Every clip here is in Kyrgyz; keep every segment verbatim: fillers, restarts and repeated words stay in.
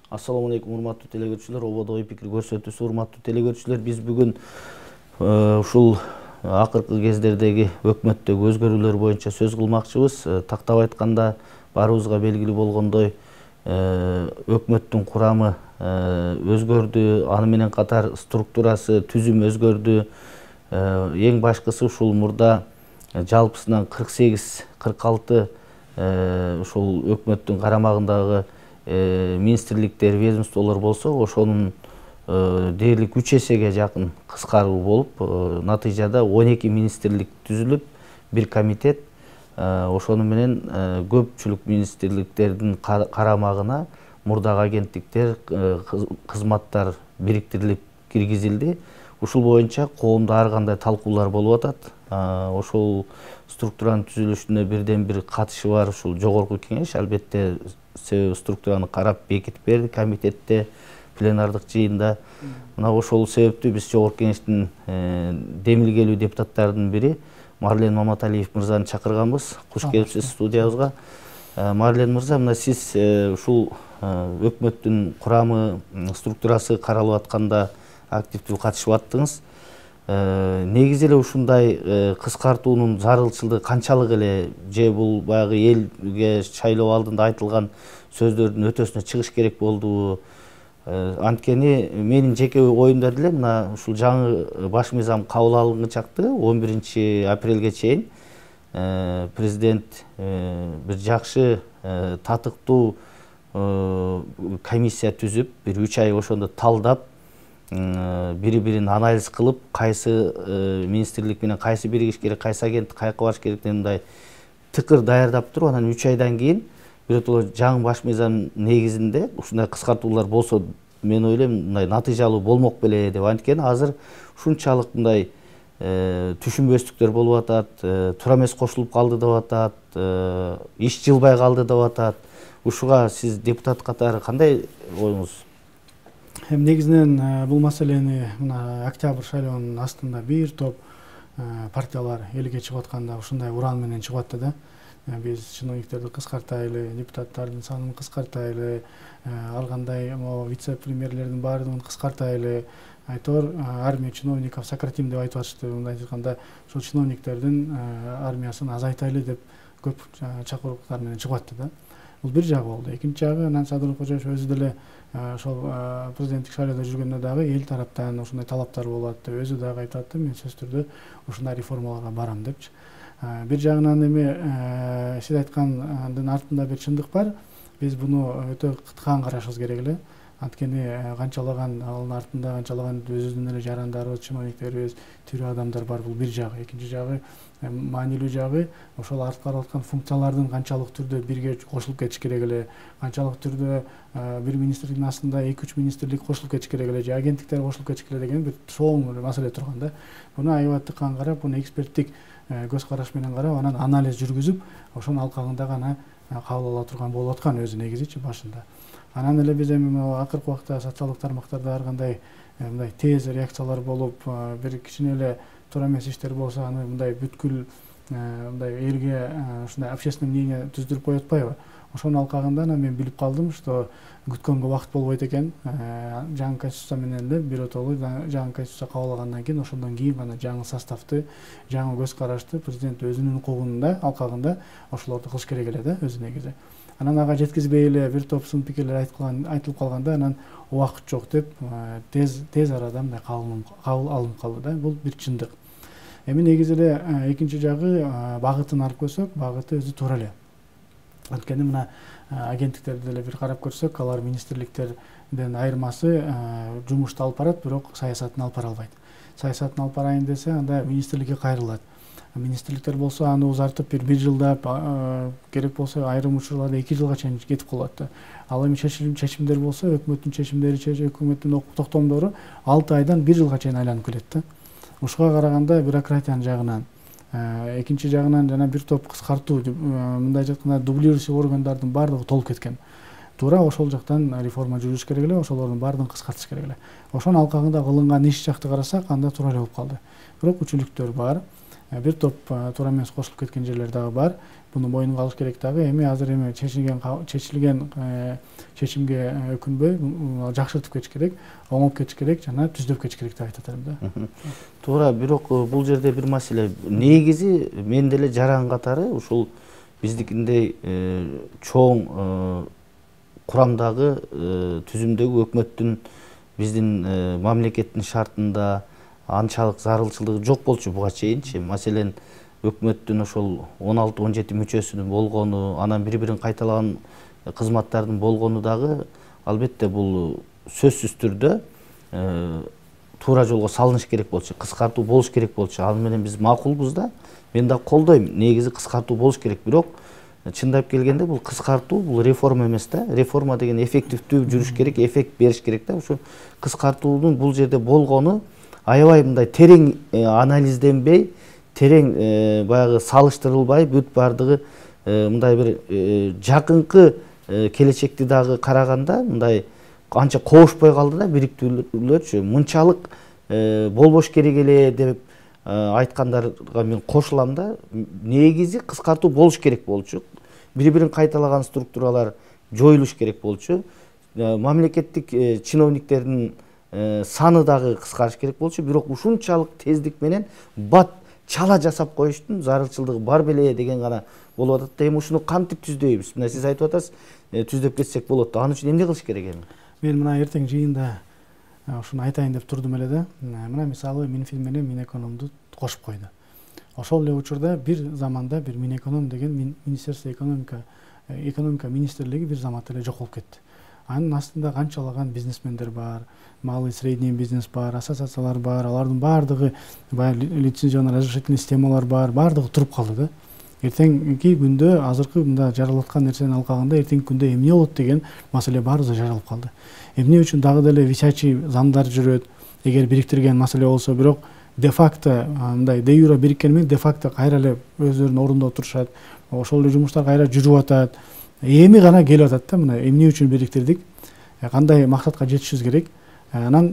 Assalamu alaikum урматтуу телегөрүүчүлөр, ободо ой пикир көрсөтүүсү урматтуу телегөрүүчүлөр. Биз бүгүн ушул акыркы кездердеги өкмөттөгү өзгөрүүлөр боюнча сөз кылмакчыбыз. Тактап айтканда, баарыбызга белгилүү болгондой, өкмөттүн курамы өзгөрдү, аны менен катар структурасы, түзүмү өзгөрдү. Эң башкысы ушул мурда жалпысынан кырк сегиз кырк алты ушул өкмөттүн карамагындагы министрликтер, ведомстволор болсо, ошонун дээрлик үч эсеге жакын кыскаруу болуп, натыйжада он эки министрлик түзүлүп, бир комитет, ошону менен көпчүлүк министрликтердин карамагына мурдагы агенттиктер, кызматтар бириктирилип киргизилди. Ушул боюнча коомдо ар кандай талкуулар болуп атат. Ошол структуранын түзүлүшүнө бирден бир катышы бар ушул жогорку кеңеш, албетте себеби структураны карап бекитип берди комитетте, пленардык жыйында. Мына ошол себептүү биз жогорку кеңештин демилгелүү депутаттарынын бири Марлен Маматалиев мырзаны чакырганбыз. Куш келипсиз студиябызга. Марлен мырза, мына сиз ушул өкмөттүн курамы, структурасы каралып атканда активдүү катышып аттыңыз. Негизи эле ушундай кыскартуунун зарылчылыгы канчалык эле, же бул баягы элге шайлоо алдында айтылган сөздөрдүн өтөсүнө чыгыш керек болдубу? Анткени менин жеке оюмда деле мына ушул жаңы баш мыйзам кабыл алынгычакты он биринчи апрелге чейин президент бир жакшы татыктуу комиссия түзүп, бир үч ай ошондо талдап, бири-бирин анализ кылып, кайсы министрлик менен кайсы биригиш керек, кайсы агенттик каяка барыш керек деген мындай тыкыр даярдап туруп, анан үч айдан кийин биротоло жаңы баш мыйзам негизинде ушундай кыскартуулар болсо, мен ойлойм, мындай натыйжалуу болмок беле деп. Анткени азыр ушунчалык мындай түшүнбөстүктөр болуп атат, туура эмес кошулуп калды деп атат, иш жылбай калды деп атат. Ушуга сиз депутат катары кандай оюңуз? Эми негизинен бул маселени мына октябрь шайлоонун астында бир топ партиялар элге чыгып атканда ушундай уран менен чыгып атты да. Биз чиновниктерди кыскартайлы, депутаттардын санын кыскартайлы, ар кандай вице-премьерлердин баардыгын кыскартайлы, айтор армия чиновников сократим деп айтып атышты. Мындай айтканда, ошол чиновниктердин армиясын азайтайлы деп көп чакырууктар менен чыгып атты да. Бул бир жагы болду. Экинчи жагы, анан Садыр Кожоев өзү деле ошол президенттик шайлоодо жүргөндө дагы эл тараптан ушундай талаптар болуп атты. Өзү дагы айтып атты, мен сөзсүз түрдө ушундай реформаларга барам депчи. Бир жагынан эми сиз айткандын артында бир чындык бар. Биз буну өтө кыткан карашыбыз керек эле. Анткени канчалаган анын артында канчалаган өзүбүздүн эле жарандарыбыз, чиновниктерибиз, тирүү адамдар бар, бул бир жагы. Экинчи жагы, маанилүү жагы, ошол аткарылып аткан функциялардын канчалык түрдө бирге кошулуп кетиш керек эле, канчалык түрдө бир министрликтин астында эки үч министрлик кошулуп кетиш керек эле, же агенттиктер кошулуп кетиш керек деген бир чоң маселе турган да. Буну аябай тыккан карап, буну эксперттик көз караш менен карап, анан анализ жүргүзүп, ошонун алкагында гана кабыл ала турган болуп аткан өзү негизичи башында. Анан эле биз эми акыркы убакта социалдык тармактарда ар кандай мындай тез реакциялар болуп, бир кичине эле туура эмес иштер болсо, аны мындай бүткүл мындай элге ушундай общественное мнение түздүрүп коюп атпайбы? Ошонун алкагында анан мен билип калдым, что күткөнгө убакыт болбойт экен. Жаңы конституция менен эле биротолуу жаңы конституция кабыл алгандан кийин, ошондон кийин гана жаңы составты, жаңы көз карашты президент өзүнүн укугунда, алкагында ошолорду кылыш керек эле да, өзү негизи. Анан ага жеткизбей эле бир топ сын пикирлер айтылып калганда, анан убакыт жок деп тез тез арада мындай кабыл алынып калды да. Бул бир чындык. Эми негизи эле экинчи жагы, багытын алып көрсөк, багыты өзү туура эле. Анткени мына агенттиктерди деле бир карап көрсөк, алар министрликтерден айырмасы жумушту алып барат, бирок саясатын алып бара албайт. Саясатын алып барайын десе, анда министрликке кайрылат. Министрликтер болсо аны узартып бир бир жылдап, керек болсо айрым учурларда эки жылга чейин кетип калат. Ал эми чечимдер болсо, өкмөттүн чечимдери, өкмөттүн токтомдору алты айдан бир жылга чейин айланып келет да. Ушуга караганда бюрократиянын жагынан, экинчи жагынан жана бир топ кыскартуу, мындай айтканда дублирующий органдардын баардыгы толуп кеткен. Туура ошол жактан реформа жүрүш керек эле, ошолордун баардыгын кыскартыш керек эле. Ошонун алкагында кылынган иш жакты карасак, анда туура эле болуп калды. Бирок үчүлүктөр бар. бир топ туура эмес кошулуп кеткен жерлер дагы бар. Буну мойнунга алыш керек дагы. Эми азыр эми чечилген чечилген чечимге өкүнбөй жакшыртып кетиш керек, оңоп кетиш керек жана түздөп кетиш керек деп айтат элем да. Туура, бирок бул жерде бир маселе. Негизи мен деле жаран катары ушул биздикиндей чоң курамдагы түзүмдөгү өкмөттүн биздин мамлекеттин шартында анчалык зарылчылыгы жок болчу буга чейинчи. Маселен, өкмөттүн ошол он алты он жети мүчөсүнүн болгону, анан бири-бирин кайталаган кызматтардын болгону дагы албетте бул сөзсүз түрдө туура жолго салыныш керек болчу, кыскартуу болуш керек болчу. Ал менен биз макулбуз да. Мен да колдойм. Негизи кыскартуу болуш керек, бирок чындап келгенде бул кыскартуу, бул реформа эмес да. Реформа деген эффективдүү жүрүш керек, эффект бериш керек да. Ошо кыскартуунун бул жерде болгону аябай мындай терең анализденбей, терең баягы салыштырылбай, бүт бардыгы мындай бир жакынкы келечекти дагы караганда мындай анча коошпой калды да бириктүүлөрчү. Мынчалык болбош керек эле деп айткандарга мен кошулам да. Негизи кыскартуу болуш керек болчу. Бири-бирин кайталаган структуралар жоюлуш керек болчу. Мамлекеттик чиновниктердин саны дагы кыскарыш керек болчу. Бирок ушунчалык тездик менен бат чала жасап коюштун зарылчылыгы бар беле деген гана болуп атат да. Эми ушуну кантип түздөйбүз? Мына сиз айтып атасыз, түздөп кетсек болот да. Аны үчүн эмне кылыш керек эми? Мен мына эртең жыйында ушуну айтайын деп турдум эле да. Мына мисалы Минфин менен Минэкономду кошуп койду. Ошол эле учурда бир заманда бир Минэконом деген Министерство экономика экономика министрлиги бир заматта эле жок болуп кетти. Анын астында канчалаган бизнесмендер бар, малый средний бизнес бар, ассоциациялар бар, алардын баардыгы баягы лицензионный разрешительный системалар бар, баардыгы туруп калды да. Эртеңки күндө азыркы мында жаралаткан нерсени алкаганда эртеңки күндө эмне болот деген маселе баарыбызга жаралып калды. Эмне үчүн дагы деле висячий замдар жүрөт, эгер бириктирген маселе болсо, бирок де факто мындай де юре бириккени менен де факто кайра эле өздөрүнүн ордунда отурушат. Ошол эле жумуштар кайра жүрүп атат. Эми гана келип атат да, мына эмне үчүн бириктирдик, кандай максатка жетишибиз керек, анан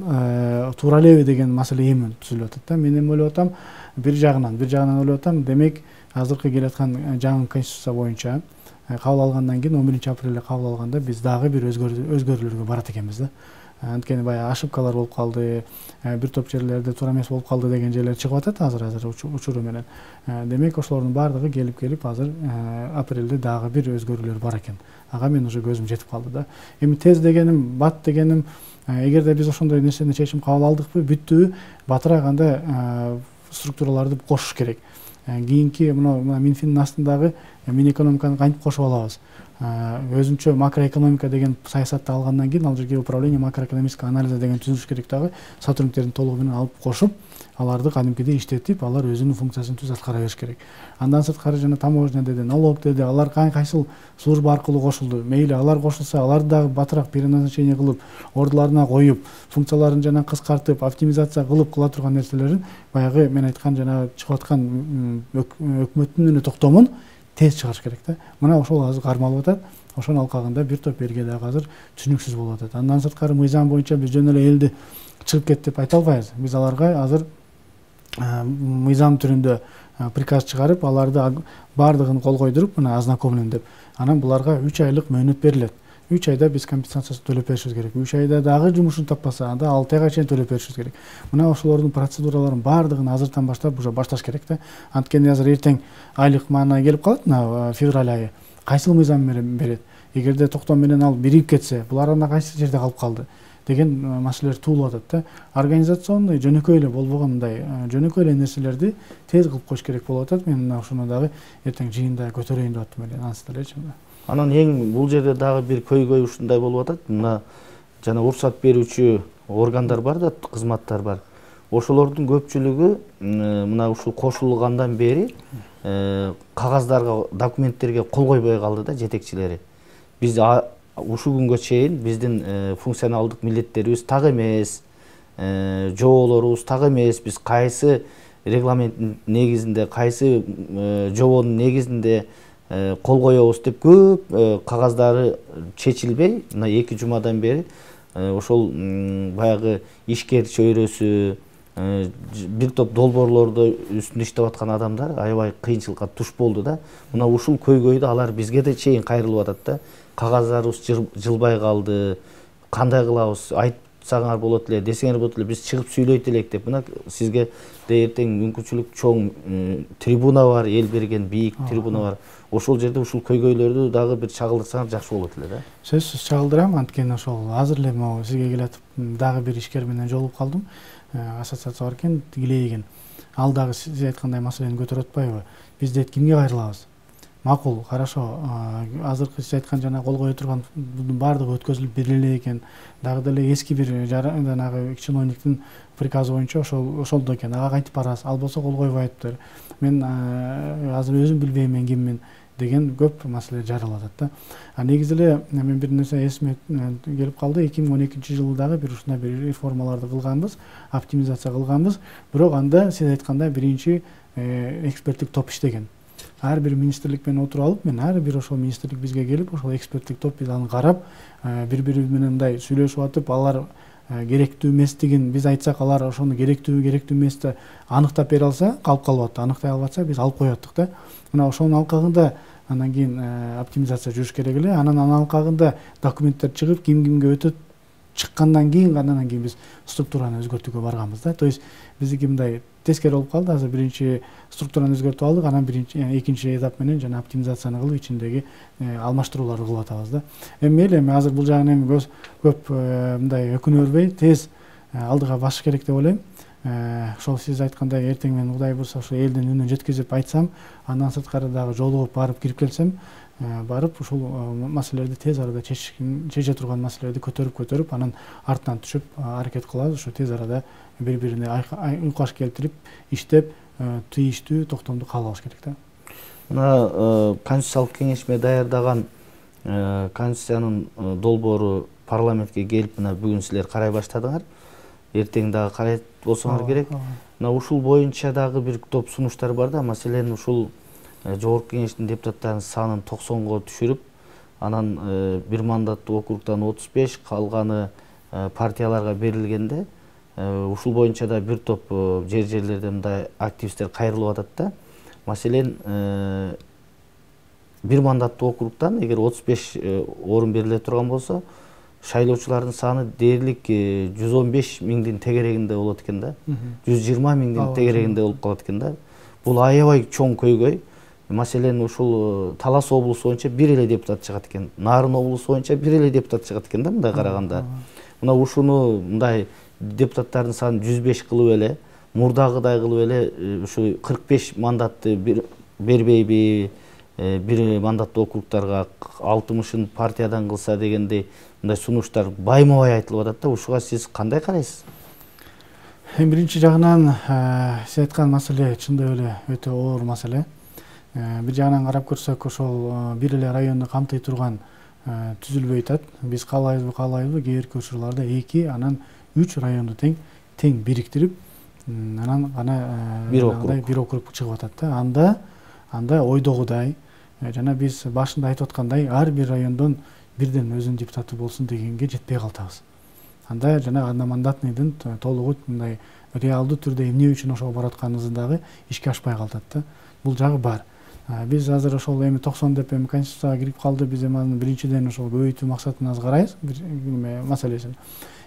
туура элеби деген маселе эми түзүлүп атат да. Мен эми ойлоп атам, бир жагынан, бир жагынан ойлоп атам, демек азыркы келаткан жаңы конституция боюнча кабыл алгандан кийин он биринчи апрелде кабыл алганда биз дагы бир өзгөрүүлөргө барат экенбиз да. Анткени баягы ошибкалар болуп калды, бир топ жерлерде туура эмес болуп калды деген жерлер чыгып атат азыр азыр учуру менен. Демек ошолордун баардыгы келип келип азыр апрелде дагы бир өзгөрүүлөр бар экен. Ага мен уже көзүм жетип калды да. Эми тез дегеним, бат дегеним, эгерде биз ошондой нерсени чечим кабыл алдыкпы, бүттү, батыраак анда структураларды кошуш керек. Кийинки мына Минфиндин астындагы Минэкономиканы кантип кошуп алабыз? Өзүнчө макроэкономика деген саясатты алгандан кийин ал жерге управление макроэкономического анализа деген түзүлүш керек дагы, сотрудниктердин толугу менен алып кошуп, аларды кадимкидей иштетип, алар өзүнүн функциясын түз аткара бериш керек. Андан сырткары жана таможня деди, налог деди, алар кайсыл служба аркылуу кошулду. Мейли алар кошулса, аларды дагы батыраак переназначение кылып, ордуларына коюп, функцияларын жана кыскартып, оптимизация кылып кыла турган нерселерин баягы мен айткан жана чыгып аткан өкмөттүн токтомун тез чыгарыш керек да. Мына ошол азыр кармалып атат. Ошонун алкагында бир топ элге дагы азыр түшүнүксүз болуп атат. Андан сырткары мыйзам боюнча биз жөн эле элди чыгып кет деп айта албайбыз. Биз аларга азыр мыйзам түрүндө приказ чыгарып, аларды баардыгын кол койдуруп, мына ознакомлен деп. Анан буларга үч айлык мөөнөт берилет. үч айда биз компенсациясын төлөп беришибиз керек. үч айда дагы жумушун таппаса, анда алты айга чейин төлөп беришибиз керек. Мына ошолордун процедураларын баардыгын азыртан баштап уже башташ керек да. Анткени азыр эртең айлык маана келип калат, мына февраль айы. Кайсыл мыйзам берет? Эгерде токтом менен ал бирип кетсе, булар анда кайсы жерде калып калды деген маселелер туулуп атат да. Организационный жөнөкөй эле болбогон мындай жөнөкөй эле нерселерди тез кылып коюш керек болуп атат. Мен мына ушуну дагы эртең жыйында көтөрөйүн деп аттым эле, анысы делечи. Анан эң бул жерде дагы бир көйгөй ушундай болуп атат. Мына жана уруксат берүүчү органдар бар да, кызматтар бар. Ошолордун көпчүлүгү мына ушул кошулгандан бери кагаздарга, документтерге кол койбой калды да жетекчилери. Биз ушул күнгө чейин биздин функционалдык милдеттерибиз так эмес, жоболорубуз так эмес, биз кайсы регламенттин негизинде, кайсы жобонун негизинде кол коебуз деп көп кагаздары чечилбей, мына эки жумадан бери ошол баягы ишкер чөйрөсү, бир топ долбоорлорду үстүндө иштеп аткан адамдар аябай кыйынчылыкка туш болду да. Мына ушул көйгөйдү алар бизге да чейин кайрылып атат да. Кагаздарыбыз жылбай калды. Кандай кылабыз? Айтсаңар болот эле, десеңер болот эле, биз чыгып сүйлөйт элек деп. Мына сизге да эртең мүмкүнчүлүк чоң трибуна бар, эл берген бийик трибуна бар. Ошол жерде ушул көйгөйлөрдү дагы бир чагылдырсаңар жакшы болот эле да. Сөзсүз чагылдырам, анткени ошол азыр эле могу сизге келатып дагы бир ишкер менен жолугуп калдым. Ассоциация бар экен, Тигилейген. Ал дагы сиз айткандай маселени көтөрүп атпайбы? Биз дейт кимге кайрылабыз? Макул, хорошо. Азыркы сиз айткан жана кол кое турган бунун баардыгы өткөзүлүп бериле эле экен. Дагы деле эски бир жанагы чиновниктин приказы боюнча ошол ошолдо экен. Ага кантип барасыз? Ал болсо кол койбой атыптыр. Мен азыр өзүм билбейм мен киммин деген көп маселе жаралып атат да. А негизи эле мен бир нерсе эсиме келип калды. эки миң он экинчи жылы дагы бир ушундай бир реформаларды кылганбыз, оптимизация кылганбыз. Бирок анда сиз айткандай биринчи эксперттик топ иштеген. Ар бир министрлик менен отуруп алып, мен ар бир ошол министрлик бизге келип, ошол эксперттик топ биз аны карап, бири-бири менен мындай сүйлөшүп атып, алар керектүү эместигин биз айтсак, алар ошону керектүү, керектүү эмести аныктап бере алса, калып калып атты. Аныктай албатса, биз алып коёттук да. Мына ошонун алкагында андан кийин оптимизация жүрүш керек эле. Анан анын алкагында документтер чыгып, ким кимге өтөт, чыккандан кийин андан кийин биз структураны өзгөртүүгө барганбыз да. То есть биздики мындай тескери болуп калды. Азыр биринчи структураны өзгөртүп алдык, анан биринчи экинчи этап менен жана оптимизацияны кылып ичиндеги алмаштырууларды кылып атабыз да. Эми мейли, эми азыр бул жагын эми көп мындай өкүнө бербей тез алдыга басыш керек деп ойлойм. Ошол сиз айткандай эртең мен Кудай буйрса ошо элдин үнүн жеткизип айтсам, андан сырткары дагы жолугуп барып кирип келсем, барып ушул маселелерди тез арада чече турган маселелерди көтөрүп көтөрүп анан артынан түшүп аракет кылабыз. Ушу тез арада бири-бирине уйкаш келтирип, иштеп, тийиштүү токтомду кабыл алыш керек да. Мына Конституциялык кеңешме даярдаган Конституциянын долбоору парламентке келип, мына бүгүн силер карай баштадыңар. Эртең дагы карайт болсоңор керек. Мына ушул боюнча дагы бир топ сунуштар бар да. Маселен ушул Жогорку кеңештин депутаттарынын санын токсонго түшүрүп, анан бир мандаттуу округтан отуз беш, калганы партияларга берилгенде, ушул боюнча да бир топ жер жерлерде мындай активисттер кайрылып атат да. Маселен бир мандаттуу округтан эгер отуз беш орун бериле турган болсо, шайлоочулардын саны дээрлик жүз он беш миңдин тегерегинде болот экен да. жүз жыйырма миңдин тегерегинде болуп калат экен да. Бул аябай чоң көйгөй. Маселен ушул Талас облусу боюнча бир эле депутат чыгат экен. Нарын облусу боюнча бир эле депутат чыгат экен да, мындай караганда. Мына ушуну мындай депутаттардын санын жүз беш кылып эле, мурдагыдай кылып эле ушу кырк беш мандатты бербейби, бир мандаттуу округтарга алтымышын партиядан кылса дегендей мындай сунуштар байма-бай айтылып атат да. Ушуга сиз кандай карайсыз? Эми биринчи жагынан сиз айткан маселе чындап эле өтө оор маселе. Бир жагынан карап көрсөк, ошол бир эле районду камтый турган түзүлбөй атат. Биз каалайбызбы, каалайбызбы, кээ бирки учурларда эки, анан үч районду тең тең бириктирип, анан гана бир округ бир округ чыгып атат да. Анда анда ойдогудай жана биз башында айтып аткандай ар бир райондон бирден өзүнүн депутаты болсун дегенге жетпей калтабыз. Анда жана одномандатныйдын толугу мындай реалдуу түрдө эмне үчүн ошого баратканыбыз дагы ишке ашпай калтат да. Бул жагы бар. Биз азыр ошол эми токсон деп эми Конституцияга кирип калды. Биз эми аны биринчиден ошол көбөйтүү максатына аз карайбыз маселесин.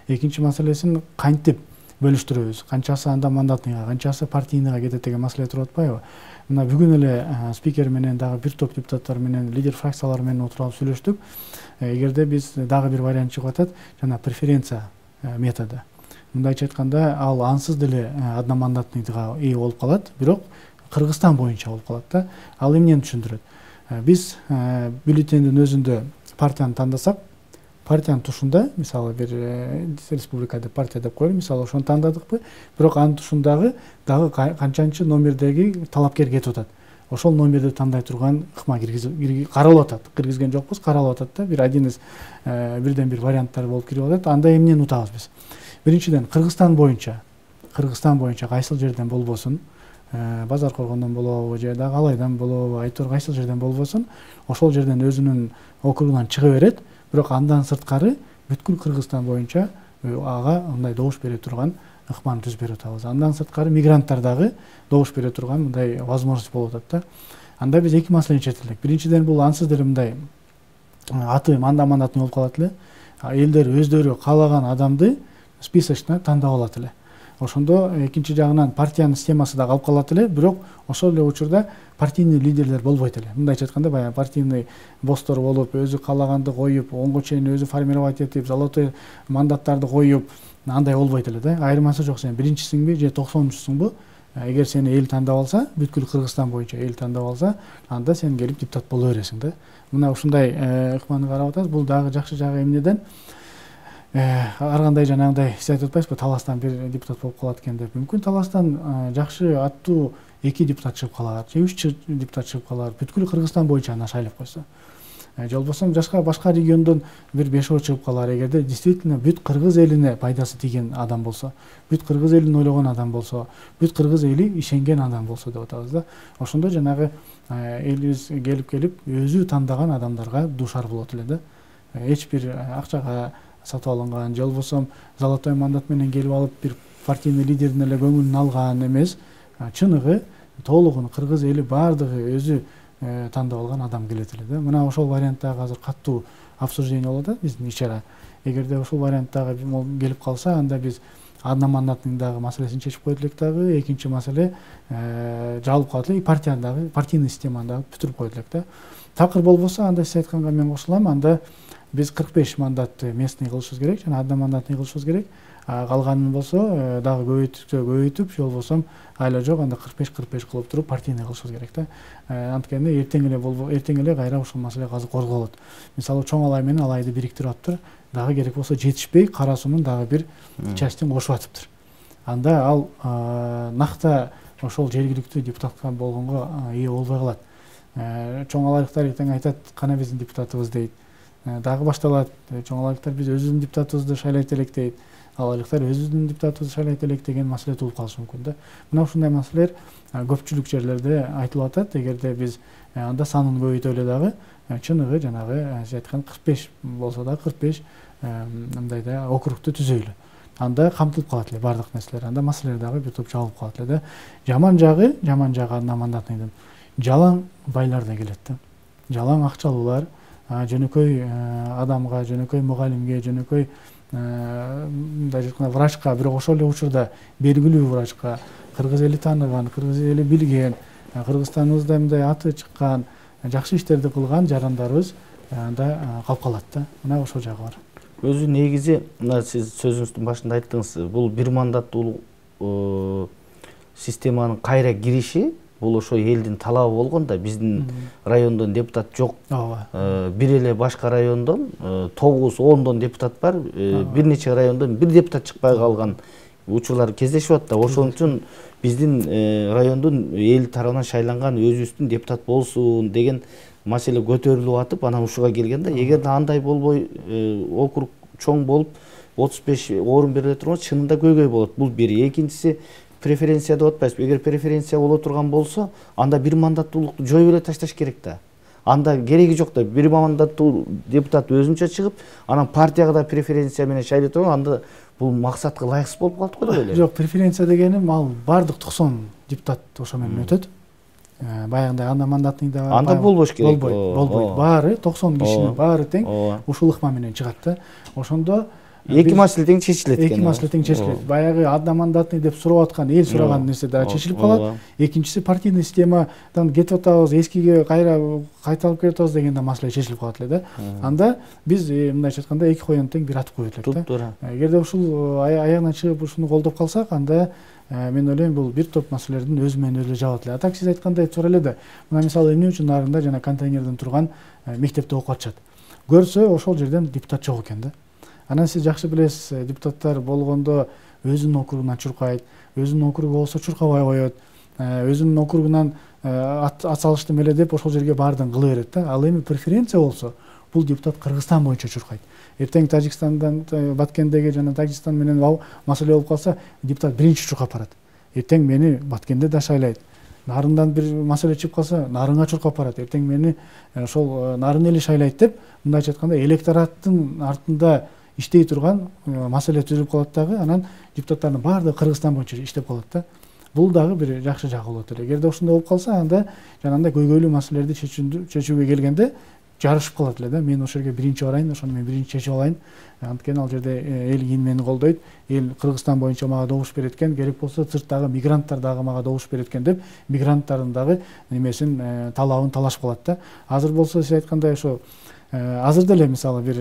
Экинчи маселесин кантип бөлүштүрөбүз? Канчасы анда мандатныйга, канчасы партийныйга кетет деген маселе туруп атпайбы? Мына бүгүн эле спикер менен дагы бир топ депутаттар менен, лидер фракциялар менен отуруп алып сүйлөштүк. Эгерде биз дагы бир вариант чыгып атат, жана преференция методу. Мындайча айтканда, ал ансыз деле одномандатныйга ээ болуп калат, бирок Кыргызстан боюнча болуп калат да. Ал эмнени түшүндүрөт? Биз бюллетендин өзүндө партияны тандасак, партиянын тушунда, мисалы бир республика деп партия деп коелу, мисалы ошону тандадыкпы, бирок анын тушундагы дагы канчанчы номердеги талапкер кетип атат. Ошол номерди тандай турган ыкма киргизип каралып атат. Киргизген жокпуз, каралып атат да. Бир один из бирден бир варианттар болуп кирип атат. Анда эмнени утабыз биз? Биринчиден, Кыргызстан боюнча, Кыргызстан боюнча кайсыл жерден болбосун, Базар Коргондон болобу же дагы Алайдан болобу, айтор кайсыл жерден болбосун, ошол жерден өзүнүн округунан чыга берет. Бирок андан сырткары бүткүл Кыргызстан боюнча ага мындай добуш бере турган ыкманы түзүп берип атабыз. Андан сырткары мигранттар дагы добуш бере турган мындай возможность болуп атат да. Анда биз эки маселени чечтилик. Биринчиден бул ансыз деле мындай аты манда мандатный болуп калат эле. Элдер өздөрү каалаган адамды списочно тандап алат эле. Ошондо экинчи жагынан партиянын системасы да калып калат эле, бирок ошол эле учурда партийный лидерлер болбойт эле. Мындайча айтканда, баягы партийный босстор болуп, өзү каалаганды коюп, онго чейин өзү формировать этип, золотой мандаттарды коюп, андай болбойт эле да. Айырмасы жок, сен биринчисиңби же токсонунчусуңбу? Эгер сени эл тандап алса, бүткүл Кыргызстан боюнча эл тандап алса, анда сен келип депутат боло бересиң да. Мына ушундай ыкманы карап атабыз. Бул дагы жакшы жагы эмнеден? Ар кандай жанагындай сиз айтып атпайсызбы, таластан бир депутат болуп калат экен деп. Мүмкүн таластан жакшы аттуу эки депутат чыгып калар, же үч депутат чыгып калар, бүткүл Кыргызстан боюнча аны шайлап койсо. Же болбосо жашка башка региондон бир бешөө чыгып калар, эгерде действительно бүт кыргыз элине пайдасы тийген адам болсо, бүт кыргыз элин ойлогон адам болсо, бүт кыргыз эли ишенген адам болсо деп атабыз да. Ошондо жанагы элибиз келип келип өзү тандаган адамдарга дуушар болот эле да. Эч бир акчага сатып алынган, же болбосо золотой мандат менен келип алып бир партийный лидердин эле көңүлүн алган эмес, чыныгы толугун кыргыз эли баардыгы өзү тандап алган адам келет эле да. Мына ошол варианттагы азыр каттуу обсуждение болуп атат биздин ичара. Эгерде ошол варианттагы келип калса, анда биз одномандатный дагы маселесин чечип койдук элек дагы. Экинчи маселе жабылып калат эле, партияны дагы, партийный системаны дагы бүтүрүп койдук элек да. Такыр болбосо, анда сиз айтканга мен кошулам, анда биз кырк беш мандатты местный кылышыбыз керек, жана одномандатный кылышыбыз керек. Калганын болсо дагы көбөйтүп көбөйтүп, же болбосо айла жок, анда кырк беш кырк беш кылып туруп партийный кылышыбыз керек да. Анткени эртең эле болбо, эртең эле кайра ушул маселе азыр козголот. Мисалы чоң алай менен алайды бириктирип атыптыр. Дагы керек болсо жетишпей, Кара суунун дагы бир частин кошуп атыптыр. Анда ал накта ошол жергиликтүү депутатка болгонго ээ болбой калат. Чоң алайлыктар эртең айтат, кана биздин депутатыбыз дейт. Дагы башталат, чоң алайлыктар биз өзүбүздүн депутатыбызды шайлайт элек дейт. Алайлыктар өзүбүздүн депутатыбызды шайлайт элек деген маселе туулуп калышы мүмкүн да. Мына ушундай маселелер көпчүлүк жерлерде айтылып атат. Эгерде биз анда санын көбөйтөлү дагы, чыныгы жанагы сиз айткан кырк беш болсо да кырк беш мындай да округту түзөйлү. Анда камтылып калат эле баардык нерселер. Анда маселелер дагы бир топ жабылып калат эле да. Жаман жагы, жаман жагы одномандатныйдын жалаң байлар да келет да. Жалаң акчалуулар, жөнөкөй адамга, жөнөкөй мугалимге, жөнөкөй мындай айтканда врачка, бирок ошол эле учурда белгилүү врачка, кыргыз эли тааныган, кыргыз эли билген, Кыргызстаныбызда мындай аты чыккан, жакшы иштерди кылган жарандарыбыз анда калып калат да. Мына ошол жагы бар. Өзү негизи, мына сиз сөзүңүздүн башында айттыңыз, бул бир мандаттуу системанын кайра кириши, бул ошо элдин талабы болгон да. Биздин райондон депутат жок. Бир эле башка райондон тогуз ондон депутат бар. Бир нече райондон бир депутат чыкпай калган учурлар кездешип атат да. Ошон үчүн биздин райондун эл тарабынан шайланган өзүбүздүн депутат болсун деген маселе көтөрүлүп атып, анан ушуга келген да. Эгерде андай болбой, округ чоң болуп отуз беш орун бериле турган, чынында көйгөй болот. Бул бири. Экинчиси, преференция деп атпайсызбы? Эгер преференция боло турган болсо, анда бир мандаттуулукту жоюп эле ташташ керек да. Анда кереги жок да. Бир мандаттуу депутат өзүнчө чыгып, анан партияга да преференция менен шайлай турган, анда бул максатка ылайыксыз болуп калат го деп ойлойм. Жок, преференция дегеним ал бардык токсон депутат ошо менен өтөт. Баягындай одномандатный да анда болбош керек. Болбойт, болбойт. Баары токсон кишинин баары тең ушул ыкма менен чыгат да. Ошондо эки маселе тең чечилет экен. Эки маселе тең чечилет. Баягы одномандатный деп сурап аткан, эл сураган нерсе да чечилип калат. Экинчиси, партийный системадан кетип атабыз, эскиге кайра кайталып келип атабыз деген да маселе чечилип калат эле да. Анда биз мындайча айтканда эки коюн тең бир атып коет элек да. Эгерде ушул аягынан чыгып ушуну колдоп калсак, анда мен ойлойм бул бир топ маселелердин өзү менен өзү жабат эле. Так сиз айткандай туура эле да. Мына мисалы эмне үчүн нарында жана контейнерден турган мектепте окуп атышат. Көрсө ошол жерден депутат жок экен да. Анан сиз жакшы билесиз, депутаттар болгондо өзүнүн округунан чуркайт, өзүнүн округу болсо чуркабай коет, өзүнүн округунан ат салыштым эле деп ошол жерге баардыгын кыла берет да. Ал эми преференция болсо, бул депутат Кыргызстан боюнча чуркайт. Эртең Тажикстандан, Баткендеги жана Тажикстан менен маселе болуп калса, депутат биринчи чуркап барат. Эртең мени Баткенде да шайлайт. Нарындан бир маселе чыгып калса, Нарынга чуркап барат. Эртең мени ошол Нарын эли шайлайт деп, мындайча айтканда электораттын артында иштей турган маселе түзүлүп калат дагы, анан депутаттардын баардыгы Кыргызстан боюнча иштеп калат да. Бул дагы бир жакшы жагы болот эле. Эгерде ошондой болуп калса, анда жанагындай көйгөйлүү маселелерди чечүүгө келгенде жарышып калат эле да. Мен ошол жерге биринчи барайын, ошону мен биринчи чечип алайын. Анткени ал жерде эл кийин мени колдойт, эл Кыргызстан боюнча мага добуш берет экен, керек болсо сырттагы мигранттар дагы мага добуш берет экен деп, мигранттардын дагы немесин талабын талашып калат да. Азыр болсо сиз айткандай ошо азыр деле мисалы бир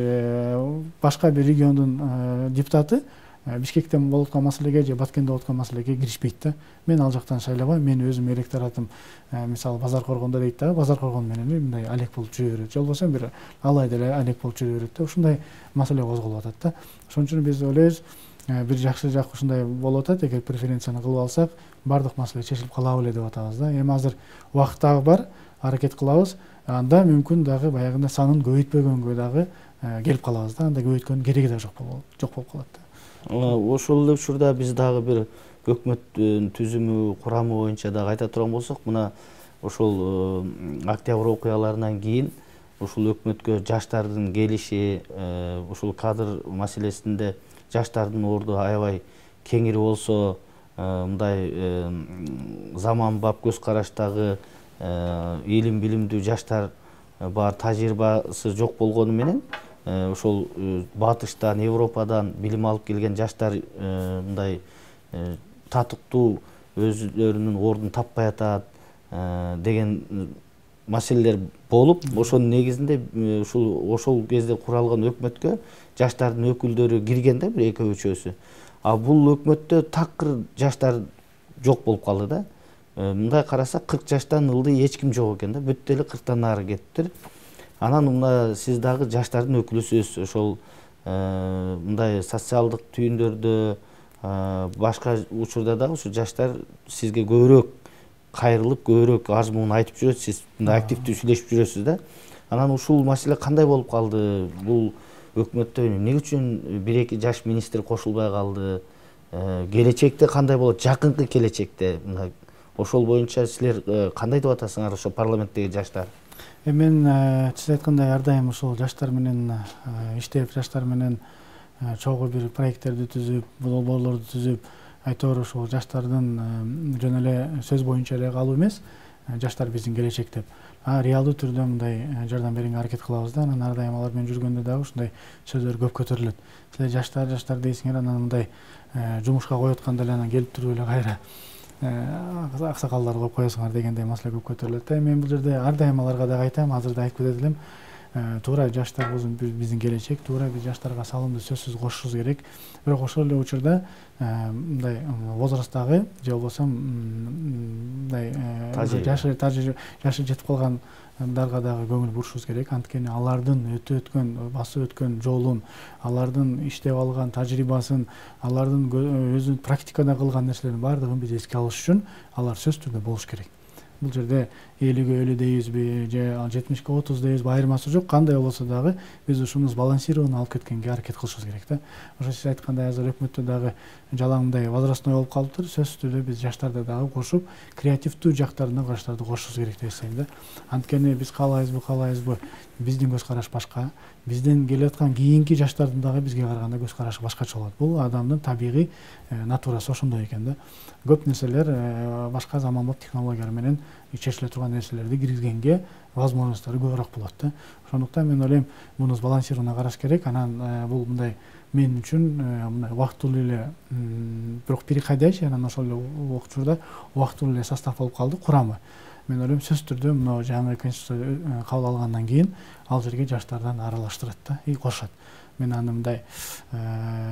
башка бир региондун депутаты Бишкектен болуп аткан маселеге же Баткенде болуп аткан маселеге киришпейт да. Мен ал жактан шайлабайм, мен өзүм электоратым мисалы Базар Коргондо дейт дагы, Базар Коргон менен мындай алек болуп жүрө берет. Же болбосо бир алай деле алек болуп жүрө берет да. Ушундай маселе козголуп атат да. Ошон үчүн биз ойлойбуз, бир жакшы жак ушундай болуп атат. Эгер преференцияны кылып алсак, бардык маселе чечилип кала беле деп атабыз да. Эми азыр убакыт дагы бар, аракет кылабыз. Анда мүмкүн дагы баягындай санын көбөйтпөгөнгө дагы келип калабыз да. Анда көбөйткөндүн кереги да жок болуп калат да. Ошол эле учурда биз дагы бир өкмөттүн түзүмү, курамы боюнча дагы айта турган болсок, мына ошол октябрь окуяларынан кийин ушул өкмөткө жаштардын келиши, ушул кадр маселесинде жаштардын орду аябай кеңири болсо, мындай заманбап көз караштагы илим билимдүү жаштар бар, тажрыйбасы жок болгону менен ошол батыштан, Европадан билим алып келген жаштар мындай татыктуу өзлөрүнүн ордун таппай атат деген маселелер болуп, ошонун негизинде ушул ошол кезде куралган өкмөткө жаштардын өкүлдөрү кирген да, бир экөө үчөөсү. А бул өкмөттө такыр жаштар жок болуп калды да. Мындай карасак кырк жаштан ылдый эч ким жок экен да, бүт деле кырктан нары кетиптир. Анан мына сиз дагы жаштардын өкүлүсүз, ошол мындай социалдык түйүндөрдө, башка учурда дагы ушу жаштар сизге көбүрөөк кайрылып, көбүрөөк арыз муун айтып жүрөт, сиз мындай активдүү сүйлөшүп жүрөсүз да. Анан ушул маселе кандай болуп калды? Бул өкмөттө эмне үчүн бир эки жаш министр кошулбай калды? Келечекте кандай болот? Жакынкы келечекте мына ошол боюнча силер кандай деп атасыңар, ошо парламенттеги жаштар? Мен сиз айткандай ар дайым ошол жаштар менен иштеп, жаштар менен чогуу бир проекттерди түзүп, долбоорлорду түзүп, айтор ошол жаштардын жөн эле сөз боюнча эле калуу эмес, жаштар биздин келечек деп реалдуу түрдө мындай жардам берүүгө аракет кылабыз да. Анан ар дайым алар менен жүргөндө дагы ушундай сөздөр көп көтөрүлөт. Силер жаштар, жаштар дейсиңер, анан мындай жумушка коюп атканда эле анан келип туруп эле кайра аксакалдар коюп коесуңар дегендей маселе көп көтөрүлөт да. Мен бул жерде ар дайым аларга дагы айтам, азыр да айтып кетет элем, туура жаштар биздин келечек, туура биз жаштарга салымды сөзсүз кошушубуз керек. Бирок ошол эле учурда мындай возрасттагы же болбосо мындай жашы жашы жетип калгандарга дагы көңүл бурушубуз керек. Анткени алардын өтүп өткөн, басып өткөн жолун, алардын иштеп алган тажрыйбасын, алардын өзү практикада кылган нерселердин баардыгын биз эске алыш үчүн алар сөзсүз түрдө болуш керек. Бул жерде элүүгө элүү дейбизби же жетимишке отуз дейбизби айырмасы жок. Кандай болсо дагы биз ушуну сбалансированно алып кеткенге аракет кылышыбыз керек да. Ошо сиз айткандай азыр өкмөттө дагы жалаңдай возрастной болуп калыптыр. Сөзсүз түрдө биз жаштарды дагы кошуп, креативдүү жактарына караштарды кошушубуз керек деп эсептейм да. Анткени биз каалайбызбы, каалайбызбы, биздин көз караш башка, бизден келе аткан кийинки жаштардын дагы бизге караганда көз карашы башкача болот. Бул адамдын табигый натурасы ошондой экен да. Көп нерселер башка заманбап технологиялар менен чечиле турган нерселерди киргизгенге возможносттору көбүрөөк болот да. Ошондуктан мен ойлойм, муну сбалансированно караш керек. Анан бул мындай мен үчүн мындай убактылуу эле, бирок переходящий, анан ошол эле учурда убактылуу эле состав болуп калды, курамы. Мен ойлойм, сөзсүз түрдө мына жаңы конституция кабыл алгандан кийин ал жерге жаштардан аралаштырат да, и кошот. Мен аны мындай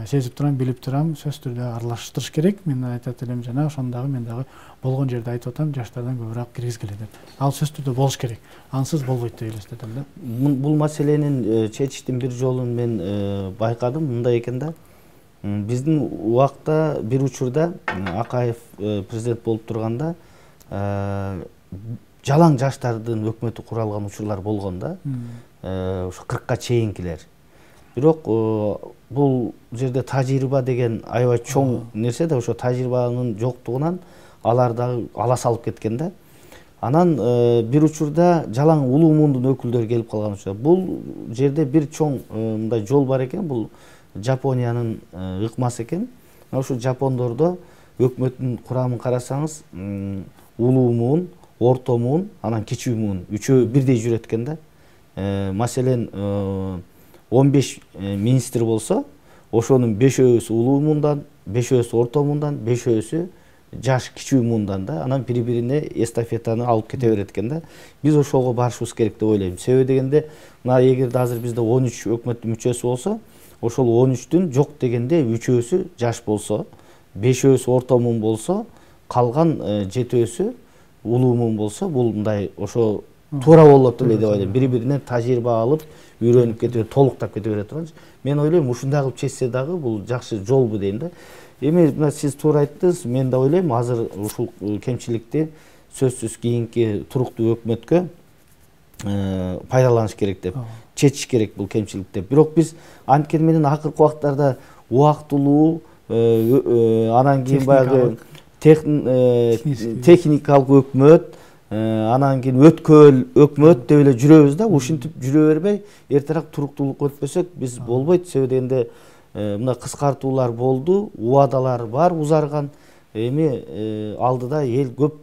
сезип турам, билип турам, сөзсүз түрдө аралаштырыш керек. Мен айтат элем жана ошону дагы мен дагы болгон жерде айтып атам, жаштардан көбүрөөк киргизгиле деп. Ал сөзсүз түрдө болуш керек. Ансыз болбойт деп элестетем да. Бул маселенин чечиштин бир жолун мен байкадым, мындай экен да. Биздин убакта бир учурда Акаев президент болуп турганда жалаң жаштардын өкмөтү куралган учурлар болгон да. Ошо кыркка чейинкилер. Бирок бул жерде тажрыйба деген аябай чоң нерсе да, ошо тажрыйбанын жоктугунан алар дагы ала салып кеткен да. Анан бир учурда жалаң улуу мундун өкүлдөрү келип калган учурда бул жерде бир чоң мындай жол бар экен. Бул Жапониянын ыкмасы экен. Ошо жапондордо өкмөттүн курамын карасаңыз, улуу муун, орто муун, анан кичүү муун үчөө бирдей жүрөт экен да. Маселен, он беш министр болсо, ошонун бешөөсү улуу муундан, бешөөсү орто муундан, бешөөсү жаш кичүү муундан да. Анан бири-бирине эстафетаны алып кете берет экен да. Биз ошого барышыбыз керек деп ойлойм. Себеби дегенде, мына эгерде азыр бизде он үч өкмөттүн мүчөсү болсо, ошол он үчтүн жок дегенде үчөөсү жаш болсо, бешөөсү орто муун болсо, калган жетөөсү улуу муун болсо, бул мындай ошо туура болот эле деп ойлойм. Бири-биринен тажрыйба алып, үйрөнүп кетип, толуктап кете бере турганчы. Мен ойлойм, ушундай кылып чечсе дагы бул жакшы жолбу дейм да. Эми мына сиз туура айттыңыз, мен да ойлойм, азыр ушул кемчиликти сөзсүз кийинки туруктуу өкмөткө пайдаланыш керек деп, чечиш керек бул кемчиликти. Бирок биз анткени менен акыркы убактарда убактылуу, анан кийин баягы техникалык өкмөт, анан кийин өткөл өкмөт деп эле жүрөбүз да. Ушинтип жүрө бербей, эртерээк туруктуулукка өтпөсөк биз болбойт. Себеби дегенде мына кыскартуулар болду, убадалар бар узарган. Эми алдыда эл көп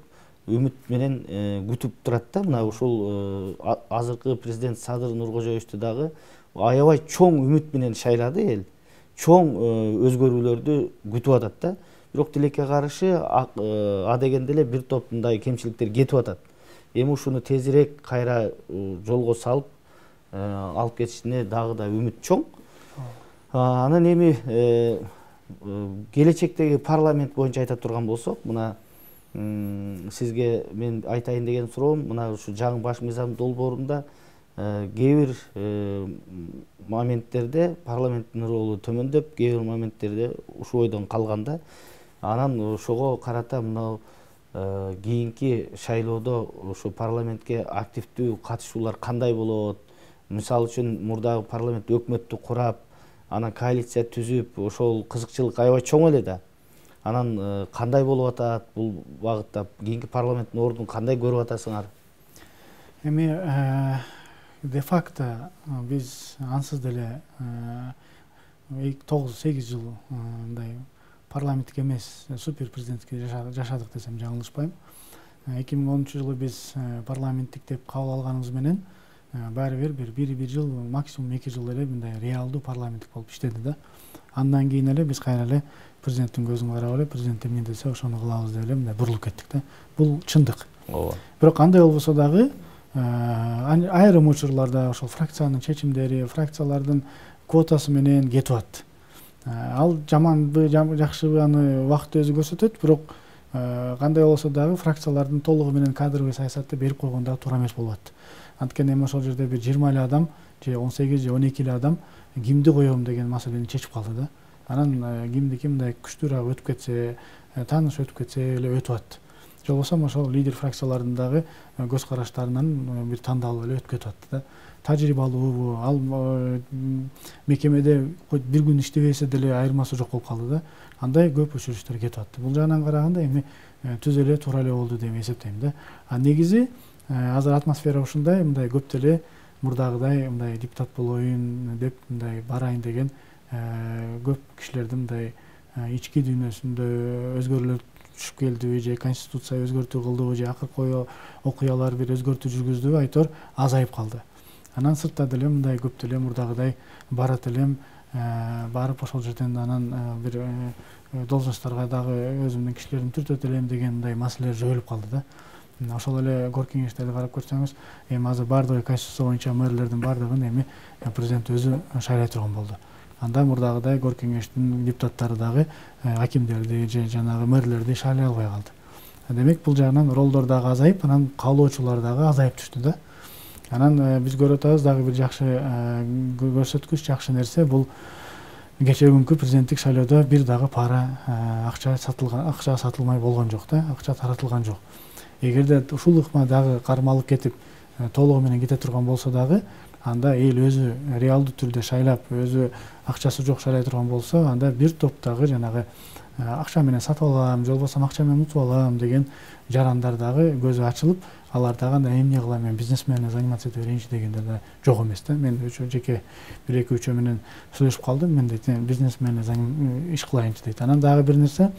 үмүт менен күтүп турат да. Мына ушул азыркы президент Садыр Нуркожоевичти дагы аябай чоң үмүт менен шайлады эл. Чоң өзгөрүүлөрдү күтүп атат да. Бирок тилекке каршы а дегенде эле бир топ мындай кемчиликтер кетип атат. Эми ушуну тезирээк кайра жолго салып алып кетишине дагы да үмүт чоң. Анан эми келечектеги парламент боюнча айта турган болсок, мына сизге мен айтайын деген суроом, мына ушу жаңы баш мыйзам долбоорунда кээ бир моменттерде парламенттин ролу төмөндөп, кээ бир моменттерде ушу ойдон калганда, анан ошого карата мына кийинки шайлоодо ушу парламентке активдүү катышуулар кандай болот? Мисалы үчүн мурдагы парламент өкмөттү курап, анан коалиция түзүп, ошол кызыкчылык аябай чоң эле да. Анан кандай болуп атат бул багытта? Кийинки парламенттин ордун кандай көрүп атасыңар? Эми де факто биз ансыз деле тогуз сегиз жыл мындай парламенттик эмес супер президентке жашадык десем жаңылышпайм. эки миң онунчу жылы биз парламенттик деп кабыл алганыбыз менен баары бир бир бир бир жыл, максимум эки жыл эле мындай реалдуу парламенттик болуп иштеди да. Андан кийин эле биз кайра эле президенттин көзүн карап эле, президент эмне десе ошону кылабыз деп эле мындай бурулуп кеттик да. Бул чындык. Ооба. Бирок андай болбосо дагы айрым учурларда ошол фракциянын чечимдери, фракциялардын квотасы менен кетип атат. Ал жаманбы, жакшыбы аны убакыт өзү көрсөтөт, бирок кандай болсо дагы фракциялардын толугу менен кадровый саясатты берип койгон дагы туура эмес болуп атат. Анткени эми ошол жерде бир жыйырма эле адам же он сегиз же он эки эле адам кимди коем деген маселени чечип калды да. Анан кимдики мындай күчтүүрөөк өтүп кетсе, тааныш өтүп кетсе эле өтүп атат. Же болбосо ошол лидер фракциялардын дагы көз караштарынан бир тандалып эле өтүп кетип атты да. Тажрыйбалуубу, ал мекемеде бир күн иштебесе деле айырмасы жок болуп калды да. Андай көп өчүрүштөр кетип атты. Бул жагынан караганда эми түз эле туура эле болду деп эсептейм да. А негизи азыр атмосфера ушундай, мындай көп деле мурдагыдай мындай депутат болоюн деп мындай барайын деген көп кишилердин мындай ички дүйнөсүндө өзгөрүүлөр түшүп келдиби же конституция өзгөртүү кылдыбы же акыркы окуялар бир өзгөртүү жүргүздүбү айтор азайып калды. Анан сыртта деле мындай көп деле мурдагыдай барат элем, барып ошол жерден анан бир должностторго дагы өзүмдүн кишилерин түртөт элем деген мындай маселелер жойулуп калды да. Ошол эле кор кеңештерди карап көрсөңүз, эми азыр бардыгы конституция боюнча мэрлердин бардыгын эми президент өзү шайлай турган болду. Анда мурдагыдай кор кеңештин депутаттары дагы акимдерди же жанагы мэрлерди шайлай албай калды. Демек бул жагынан ролдор дагы азайып, анан каалоочулар дагы азайып түштү да. Анан биз көрүп атабыз дагы бир жакшы көрсөткүч, жакшы нерсе бул кечээ күнкү президенттик шайлоодо бир дагы пара акча сатылган, акча сатылмай болгон жок да, акча таратылган жок. Эгерде ушул ыкма дагы кармалып кетип толугу менен кете турган болсо дагы, анда эл өзү реалдуу түрдө шайлап, өзү акчасы жок шайлай турган болсо, анда бир топтогу жанагы акча менен сатып алам, же болбосо акча менен утуп алам деген жарандар дагы көзү ачылып, алар дагы эмне кылам, мен бизнес менен заниматься этип берейинчи дегендер да жок эмес да. Мен жеке бир эки үчөө менен сүйлөшүп калдым. Мен дейт, бизнес менен иш кылайынчы дейт. Анан дагы бир нерсе,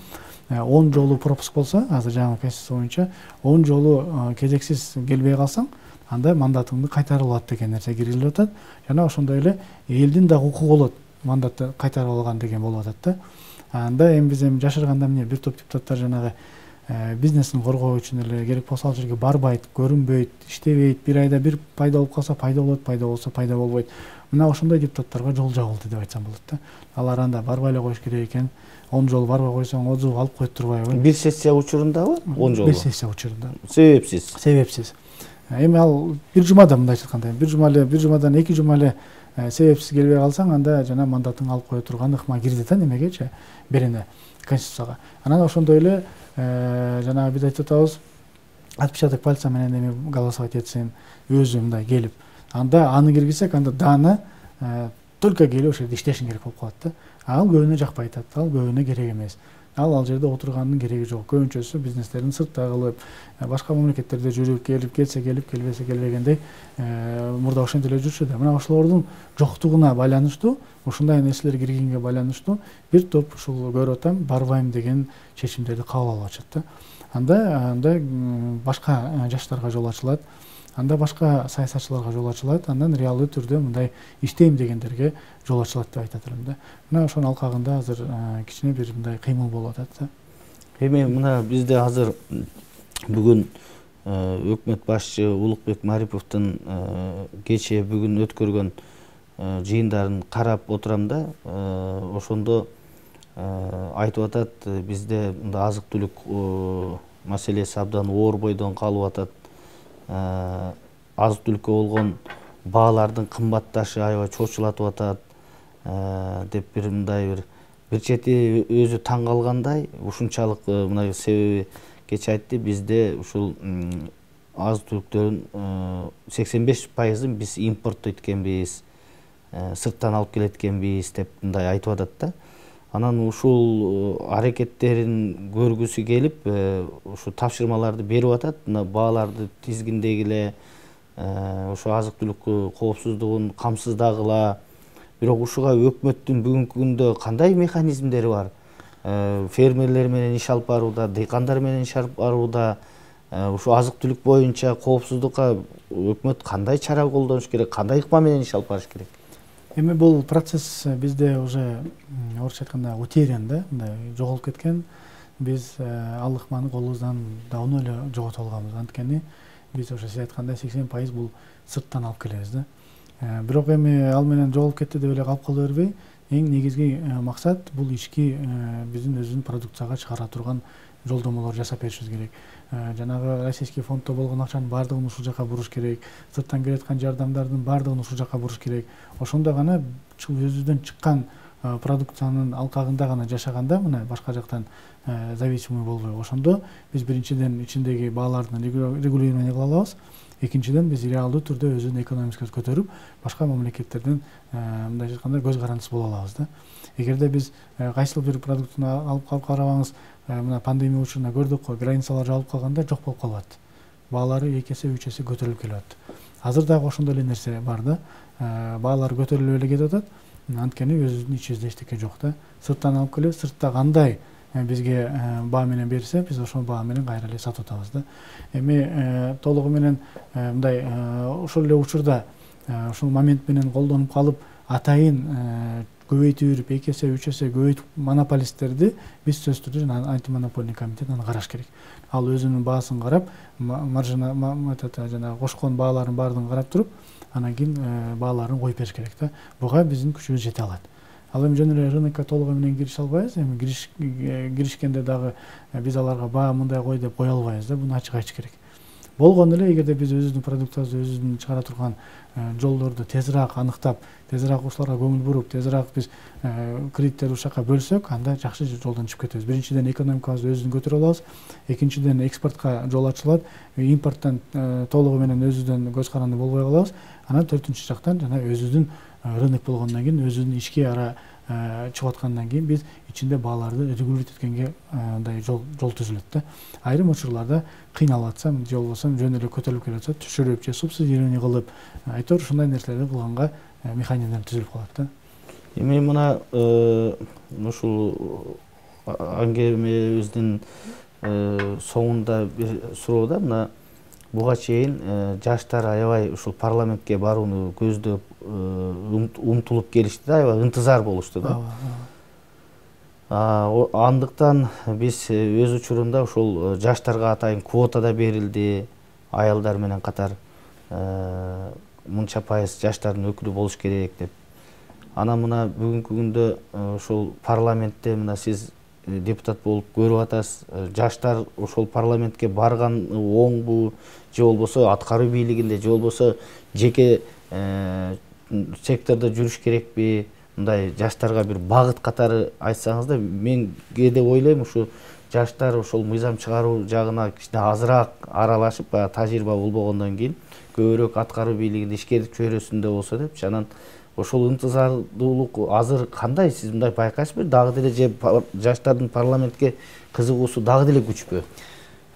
он жолу пропуск болсо, азыр жаңы конституция боюнча он жолу кезексиз келбей калсаң, анда мандатыңды кайтарып алат деген нерсе киргизилип атат. Жана ошондой эле элдин дагы укугу болот, мандатты кайтарып алган деген болуп атат да. Анда эми биз эми жашырганда эмне бир топ депутаттар жанагы бизнесин коргоо үчүн эле керек болсо ал жерге барбайт, көрүнбөйт, иштебейт, бир айда бир пайда болуп калса пайда болот, пайда болсо пайда болбойт. Мына ошондой депутаттарга жол жабылды деп айтсам болот да. Алар анда барбай эле коюш керек экен. он жол барбай койсоң отзыв алып коет турбайбы? Бир сессия учурундабы? он жолу. Бир сессия учурунда. Себепсиз. Себепсиз. Эми ал бир жумада мындайча айтканда, бир жума эле, бир жумадан эки жума эле себепсиз келбей калсаң, анда жана мандатың алып кое турган ыкма кирди да немегечи, берене конституцияга. Анан ошондой эле жанагы биз айтып атабыз, отпечаток пальца менен эми голосовать этсин, өзү мындай келип, анда аны киргизсек, анда даны только келип ошо жерде иштешиң керек болуп калат да. Ал көбүнө жакпайт, ал көбүнө керек эмес. Ал ал жерде отурганын кереги жок. Көбүнчөсү бизнестерин сыртта кылып, башка мамлекеттерде жүрүп, келип, келсе келип, келбесе келбегендей мурда ошентип эле жүрчү да. Мына ошолордун жоктугуна байланыштуу, ушундай нерселер киргенге байланыштуу бир топ ушул көрүп атам, барбайм деген чечимдерди кабыл алып атышат да. Анда анда башка жаштарга жол ачылат. Анда башка саясатчыларга жол ачылат, андан реалдуу түрдө мындай иштейм дегендерге жол ачылат деп айтат элем да. Мына ошонун алкагында азыр кичине бир мындай кыймыл болуп атат да. Эми мына бизде азыр бүгүн өкмөт башчы Улукбек Мариповдун кечээ бүгүн өткөргөн жыйындарын карап отурам да, ошондо айтып атат, бизде мында азык түлүк маселеси абдан оор бойдон калып атат. Азык түлүккө болгон баалардын кымбатташы аябай чочулатып атат деп бир мындай бир бир чети өзү таң калгандай, ушунчалык мына себеби кече айтты, бизде ушул азык түлүктөрдүн сексен беш пайызын биз импорттойт экенбиз, сырттан алып келет экенбиз деп мындай айтып атат да. Анан ушул аракеттерин көргүсү келип, ушу тапшырмаларды берип атат, мына бааларды тизгиндегиле, ошо азык түлүк коопсуздугун камсыздагыла. Бирок ушуга өкмөттүн бүгүнкү күндө кандай механизмдери бар? Фермерлер менен иш алып барууда, дыйкандар менен иш алып барууда, ушу азык түлүк боюнча коопсуздукка өкмөт кандай чара колдонуш керек, кандай ыкма менен иш алып барыш керек? Эми бул процесс бизде уже орусча айтканда утерян да, мындай жоголуп кеткен. Биз ал ыкманы колубуздан давно эле жоготуп алганбыз. Анткени биз ошо сиз айткандай сексен пайыз бул сырттан алып келебиз да. Бирок эми ал менен жоголуп кетти деп эле калып кала бербей, эң негизги максат бул ички биздин өзүбүздүн продукцияга чыгара турган жолдомолор жасап беришибиз керек. Жанагы российский фонддо болгон акчанын баардыгын ушул жака буруш керек, сырттан келе аткан жардамдардын баардыгын ушул жака буруш керек. Ошондо гана өзүбүздөн чыккан продукциянын алкагында гана жашаганда, мына башка жактан зависимый болбой, ошондо биз биринчиден ичиндеги баалардын регулирование кыла алабыз. Экинчиден биз реалдуу түрдө өзүнүн экономикабызды көтөрүп, башка мамлекеттерден мындайча айтканда көз карандысы боло алабыз да. Эгерде биз кайсыл бир продуктуну алып карабаңыз, мына пандемия учурунда көрдүк го, границалар жабылып калганда жок болуп калат. Баалары эки эсе, үч эсе көтөрүлүп келет. Азыр дагы ошондой эле нерсе бар да. Баалар көтөрүлүп эле кетип атат. Анткени өзүбүздүн ичибизде эчтеке жок да. Сырттан алып келип, сыртта кандай бизге баа менен берсе, биз ошол баа менен кайра эле сатып атабыз да. Эми толугу менен мындай ошол эле учурда ушул момент менен колдонуп калып, атайын көбөйтүп жүрүп, эки эсе, үч эсе көбөйтүп монополисттерди биз сөзсүз түрдө жана антимонополный комитет аны караш керек. Ал өзүнүн баасын карап, маржина жана кошкон бааларын баардыгын карап туруп, анан кийин бааларын коюп бериш керек да. Буга биздин күчүбүз жете алат. Ал эми жөн эле рынокко толугу менен кирише албайбыз. Эми киришкенде дагы биз аларга баа мындай кой деп кое албайбыз да. Буну ачык айтыш керек. Болгону эле эгерде биз өзүбүздүн продукциябызды өзүбүздүн чыгара турган жолдорду тезирээк аныктап, тезирээк ушуларга көңүл буруп, тезирээк биз кредиттерди ушул жака бөлсөк, анда жакшы жолдон чыгып кетебиз. Биринчиден экономикабызды өзүбүздүн көтөрө алабыз. Экинчиден экспортко жол ачылат. Импорттон толугу менен өзүбүздөн көз каранды болбой калабыз. Анан төртүнчү жактан жана өзүбүздүн рынок болгондон кийин өзүбүздүн ички ара чыгып аткандан кийин биз ичинде бааларды регулировать эткенге мындай жол жол түзүлөт да. Айрым учурларда кыйналып атсам же болбосо жөн эле көтөрүлүп келе жатса түшүрүп же субсидирование кылып айтор ушундай нерселерди кылганга механизмдер түзүлүп калат да. Эми мына ушул аңгемебиздин соңунда бир суроо да, мына буга чейин жаштар аябай ушул парламентке барууну көздөп умтулуп келишти да, аябай ынтызар болушту да. Андыктан биз өз учурунда ушул жаштарга атайын квота да берилди, аялдар менен катар мынча пайыз жаштардын өкүлү болуш керек деп. Анан мына бүгүнкү күндө ушул парламентте мына сиз депутат болуп көрүп атасыз. Жаштар ошол парламентке барган оңбу, же болбосо аткаруу бийлигинде, же болбосо жеке сектордо жүрүш керекпи? Мындай жаштарга бир багыт катары айтсаңыз да, мен кээде ойлойм ушу жаштар ошол мыйзам чыгаруу жагына кичине азыраак аралашып, баягы тажрыйба болбогондон кийин көбүрөөк аткаруу бийлигинде ишкерлик чөйрөсүндө болсо депчи. Анан ошол ынтызардуулук азыр кандай, сиз мындай байкайсызбы? Дагы деле же жаштардын парламентке кызыгуусу дагы деле күчпү?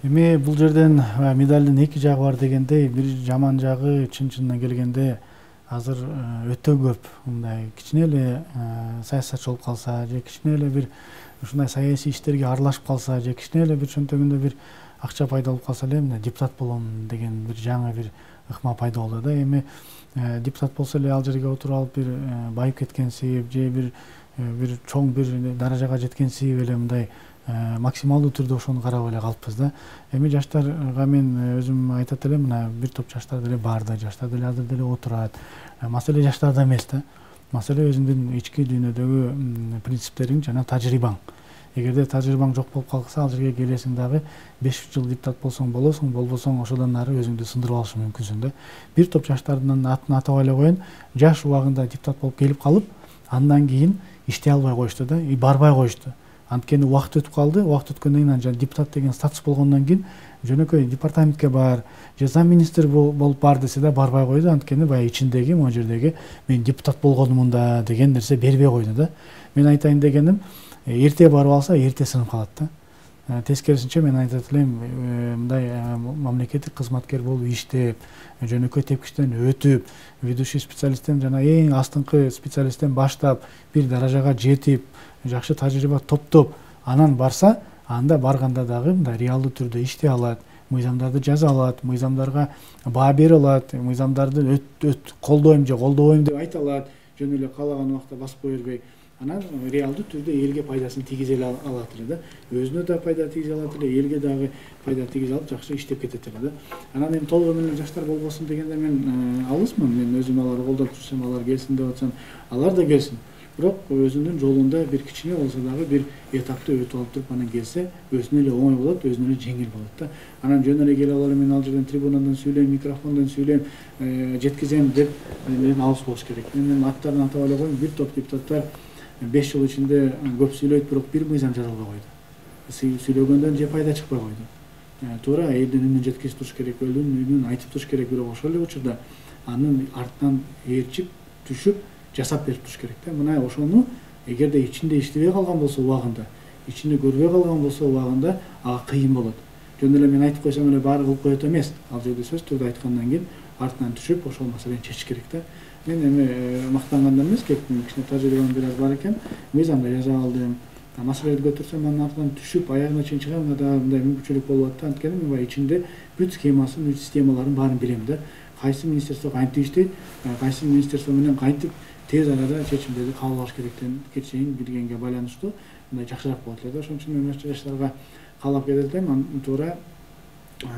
Эми бул жерден медалдын эки жагы бар дегендей, бир жаман жагы чын-чынына келгенде азыр өтө көп мындай кичине эле саясатчы болуп калса, же кичине эле бир ушундай саясий иштерге аралашып калса, же кичине эле бир чөнтөгүндө бир акча пайда болуп калса эле мына депутат болом деген бир жаңы бир ыкма пайда болду да. Эми депутат болсо эле ал жерге отуруп алып бир байып кеткенсип, же бир бир чоң бир даражага жеткенсип эле мындай максималдуу түрдө ошону карап эле калыппыз да. Эми жаштарга мен өзүм айтат элем, мына бир топ жаштар деле бар да, жаштар деле азыр деле отурат. Маселе жаштарда эмес да. Маселе өзүңдүн ички дүйнөдөгү принциптериң жана тажрыйбаң. Эгерде тажрыйбаң жок болуп калса, ал жерге келесиң дагы беш жыл депутат болсоң болосуң, болбосоң ошодон ары өзүңдү сындырып алышы мүмкүнсүң да. Бир топ жаштардын атын атап эле коеюн, жаш убагында депутат болуп келип калып, андан кийин иштей албай коюшту да, и барбай коюшту. Анткени убакыт өтүп калды, убакыт өткөндөн кийин депутат деген статус болгондон кийин жөнөкөй департаментке бар, же зам министр болуп бар десе да барбай койду. Анткени баягы ичиндеги, могу жердеги мен депутат болгонмун да деген нерсе бербей койду да. Мен айтайын дегеним, эрте барып алса, эрте сынып калат да. Тескерисинче мен айтат элем, мындай мамлекеттик кызматкер болуп иштеп, жөнөкөй тепкичтен өтүп, ведущий специалисттен жана эң астыңкы специалисттен баштап бир даражага жетип, жакшы тажрыйба топтоп, анан барса, анда барганда дагы мындай реалдуу түрдө иштей алат, мыйзамдарды жаза алат, мыйзамдарга баа бере алат, мыйзамдарды колдойм же колдобойм деп айта алат, жөн эле каалаган убакта басып кое бербей. Анан реалдуу түрдө элге пайдасын тийгизе алат эле да. Өзүнө да пайда тийгизе алат эле, элге дагы пайда тийгизе алып жакшы иштеп кетет эле да. Анан эми толугу менен жаштар болбосун дегенде мен алысмын. Мен өзүм аларды колдоп жүрсөм, алар келсин деп атсам, алар да келсин. Бирок өзүнүн жолунда бир кичине болсо дагы бир этапты өтүп алып туруп анан келсе, өзүнө эле оңой болот, өзүнө эле жеңил болот да. Анан жөн эле келип алып мен ал жерден трибунадан сүйлөйм, микрофондон сүйлөйм, жеткизем деп мен алыс болуш керек. Мен аттарын атап эле коеюн, бир топ депутаттар беш жыл ичинде көп сүйлөйт, бирок бир мыйзам жазылбай койду. Сүйлөгөндөн же пайда чыкпай койду. Туура элдин үнүн жеткизип туруш керек, элдин үнүн айтып туруш керек, бирок ошол эле учурда анын артынан ээрчип, түшүп, жасап берип туруш керек да. Мына ошону эгерде ичинде иштебей калган болсо убагында, ичинде көрбөй калган болсо убагында ага кыйын болот. Жөн эле мен айтып койсом эле баары кылып коет эмес. Ал жерде сөз түрдө айткандан кийин артынан түшүп ошол маселени чечиш керек да. Мен эми мактангандан эмес, кечине тажрыйбам бир аз бар экен. Мыйзамда жаза алдым. Маселени көтөрсөм анын артынан түшүп аягына чейин чыгам да, мындай мүмкүнчүлүк болуп атты. Анткени мен баягы ичинде бүт схемасын, бүт системаларын баарын билем да. Кайсы министерство кантип иштейт, кайсы министерство менен кантип тез арада чечимдерди кабыл алыш керектен чейин билгенге байланыштуу мындай жакшыраак болот эле да. Ошон үчүн мен жаштарга каалап кетет элем, туура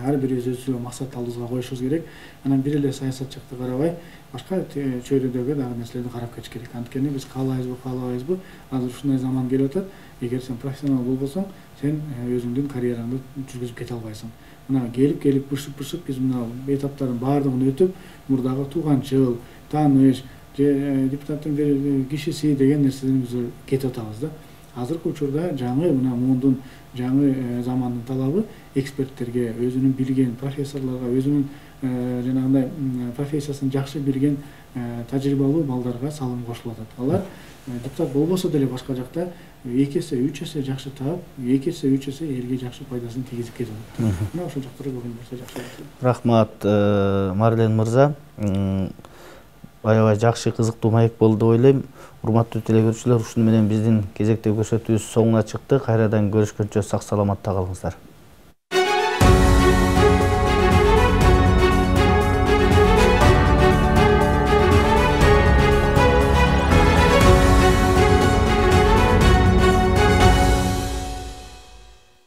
ар бирибиз өзүбүзгө максат алдыбызга коюшубуз керек. Анан бир эле саясат жакты карабай, башка чөйрөдөгү дагы нерселерди карап кетиш керек. Анткени биз каалайбызбы, каалабайбызбы, азыр ушундай заман келип атат. Эгер сен профессионал болбосоң, сен өзүңдүн карьераңды жүргүзүп кете албайсың. Мына келип-келип бышып-бышып биз мына этаптардын баардыгын өтүп, мурдагы тууган жыл, тааныш, же депутаттын бир кишиси деген нерседен биз кетип атабыз да. Азыркы учурда жаңы мына мундун жаңы замандын талабы эксперттерге, өзүнүн билген профессорлорго, өзүнүн жанагындай профессиясын жакшы билген тажрыйбалуу балдарга салым кошулуп атат. Алар депутат болбосо деле башка жакта эки эсе үч эсе жакшы таап, эки эсе үч эсе элге жакшы пайдасын тийгизип кетип атат. Мына ошол жактарга көбүн болсо жакшы болот. Рахмат, Марлен мырза. Аябай жакшы, кызыктуу маек болду деп ойлойм. Урматтуу телекөрүүчүлөр, ушуну менен биздин кезектеги көрсөтүүбүз соңуна чыкты. Кайрадан көрүшкөнчө сак саламатта калыңыздар.